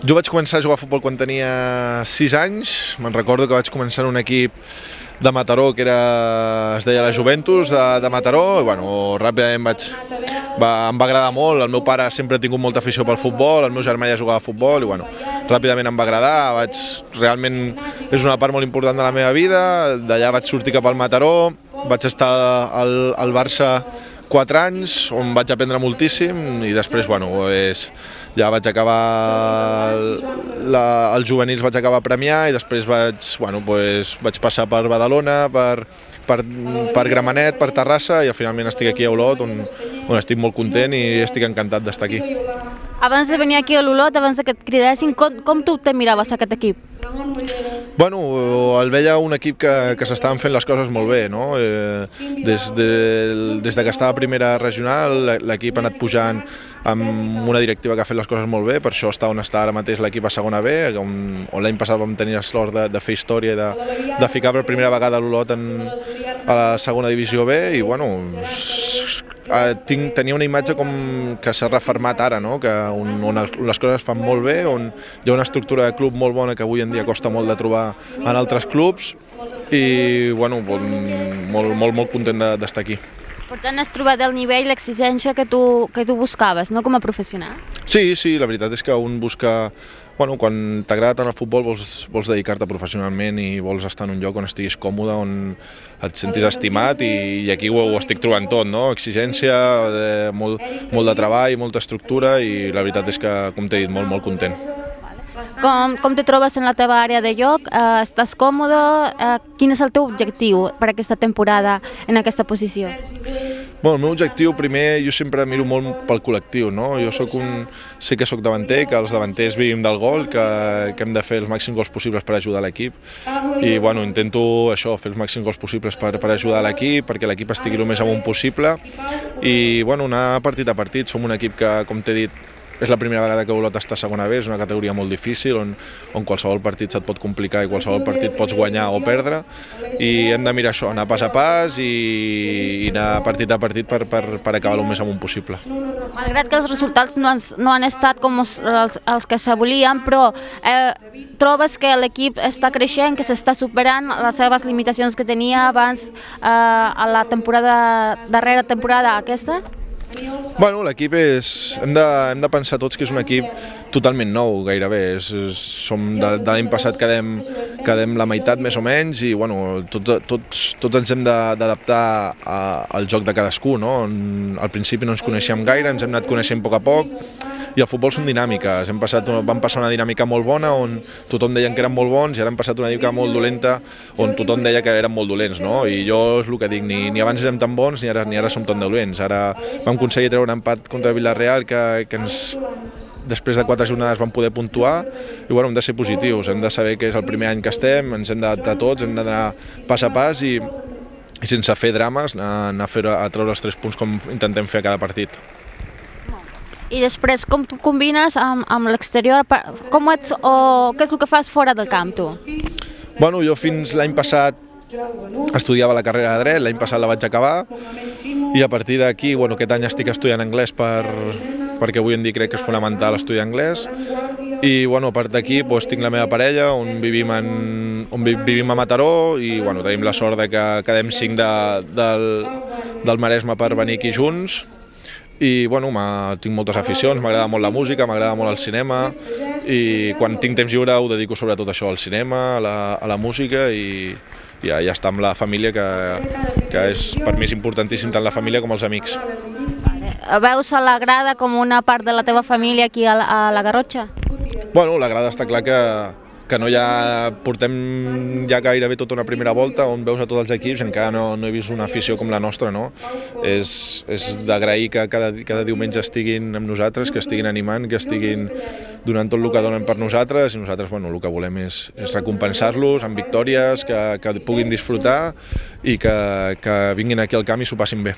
Jo vaig començar a jugar a futbol quan tenia 6 anys. Me'n recordo que vaig començar en un equip de Mataró que es deia la Juventus de Mataró, i bueno, ràpidament em va agradar molt. El meu pare sempre ha tingut molta afició pel futbol, el meu germà ja jugava a futbol i bueno, ràpidament em va agradar. Realment és una part molt important de la meva vida. D'allà vaig sortir cap al Mataró, vaig estar al Barça 4 anys, on vaig aprendre moltíssim, i després ja vaig acabar els juvenils, vaig acabar a Premià, i després vaig passar per Badalona, per Gramenet, per Terrassa, i finalment estic aquí a Olot, on estic molt content i estic encantat d'estar aquí. Abans de venir aquí a l'Olot, abans que et cridessin, com tu te miraves aquest equip? Bueno, el veia un equip que s'estaven fent les coses molt bé, no? Des que estava a primera regional, l'equip ha anat pujant amb una directiva que ha fet les coses molt bé, per això està on està ara mateix l'equip a segona B, on l'any passat vam tenir la sort de fer història i de ficar per primera vegada l'Olot a la segona divisió B, i bueno, tenia una imatge com que s'ha refermat ara, no? On les coses es fan molt bé, on hi ha una estructura de club molt bona que avui en dia costa molt de trobar en altres clubs, i bueno, molt content d'estar aquí. Per tant, has trobat el nivell, l'exigència que tu buscaves, no, com a professional? Sí, la veritat és que un busca... Quan t'agrada tant el futbol vols dedicar-te professionalment i vols estar en un lloc on estiguis còmode, on et sentis estimat, i aquí ho estic trobant tot, no? Exigència, molt de treball, molta estructura, i la veritat és que, com t'he dit, molt content. Com te trobes en la teva àrea de joc? Estàs còmode? Quin és el teu objectiu per aquesta temporada en aquesta posició? El meu objectiu, primer, jo sempre miro molt pel col·lectiu, no? Sé que soc davanter, que els davanters vivim del gol, que hem de fer els màxims gols possibles per ajudar l'equip, i intento això, fer els màxims gols possibles per ajudar l'equip, perquè l'equip estigui el més amunt possible, i anar partit a partit. Som un equip que, com t'he dit, és la primera vegada que Olot està a segona B, és una categoria molt difícil, on qualsevol partit se't pot complicar i qualsevol partit pots guanyar o perdre, i hem de mirar això, anar pas a pas i anar partit a partit per acabar el més amunt possible. Malgrat que els resultats no han estat com els que se volien, però trobes que l'equip està creixent, que s'està superant les seves limitacions que tenia abans a la darrera temporada aquesta? L'equip hem de pensar tots que és un equip totalment nou, gairebé. Som de l'any passat quedem la meitat més o menys, i tots ens hem d'adaptar al joc de cadascú, no? Al principi no ens coneixíem gaire, ens hem anat coneixent a poc a poc, i el futbol són dinàmiques. Vam passar una dinàmica molt bona on tothom deien que eren molt bons, i ara hem passat una dinàmica molt dolenta on tothom deia que eren molt dolents, no? I jo és el que dic, ni abans érem tan bons ni ara som tan dolents. Ara vam aconseguir treure un empat contra Villarreal que després de 4 jornades vam poder puntuar, i hem de ser positius, hem de saber que és el primer any que estem, ens hem d'adaptar tots, hem d'anar pas a pas i sense fer drames anar a treure els 3 punts com intentem fer a cada partit. I després, com tu combines amb l'exterior? Com ets o què és el que fas fora del camp, tu? Jo fins l'any passat estudiava la carrera de dret, l'any passat la vaig acabar, i a partir d'aquí, aquest any estic estudiant anglès perquè avui en dia crec que és fonamental estudiar anglès, i a part d'aquí tinc la meva parella, on vivim a Mataró, i tenim la sort que quedem 5 del Maresme per venir aquí junts. I tinc moltes aficions, m'agrada molt la música, m'agrada molt el cinema, i quan tinc temps lliure ho dedico sobretot a això, al cinema, a la música, i ja està amb la família, que és per mi és importantíssim tant la família com els amics. Veus a la grada com una part de la teva família aquí a la Garrotxa? La grada està clar que portem ja gairebé tota una primera volta on veus a tots els equips, encara no he vist una afició com la nostra, no? És d'agrair que cada diumenge estiguin amb nosaltres, que estiguin animant, que estiguin donant tot el que donen per nosaltres, i nosaltres el que volem és recompensar-los amb victòries, que puguin disfrutar i que vinguin aquí al camp i s'ho passin bé.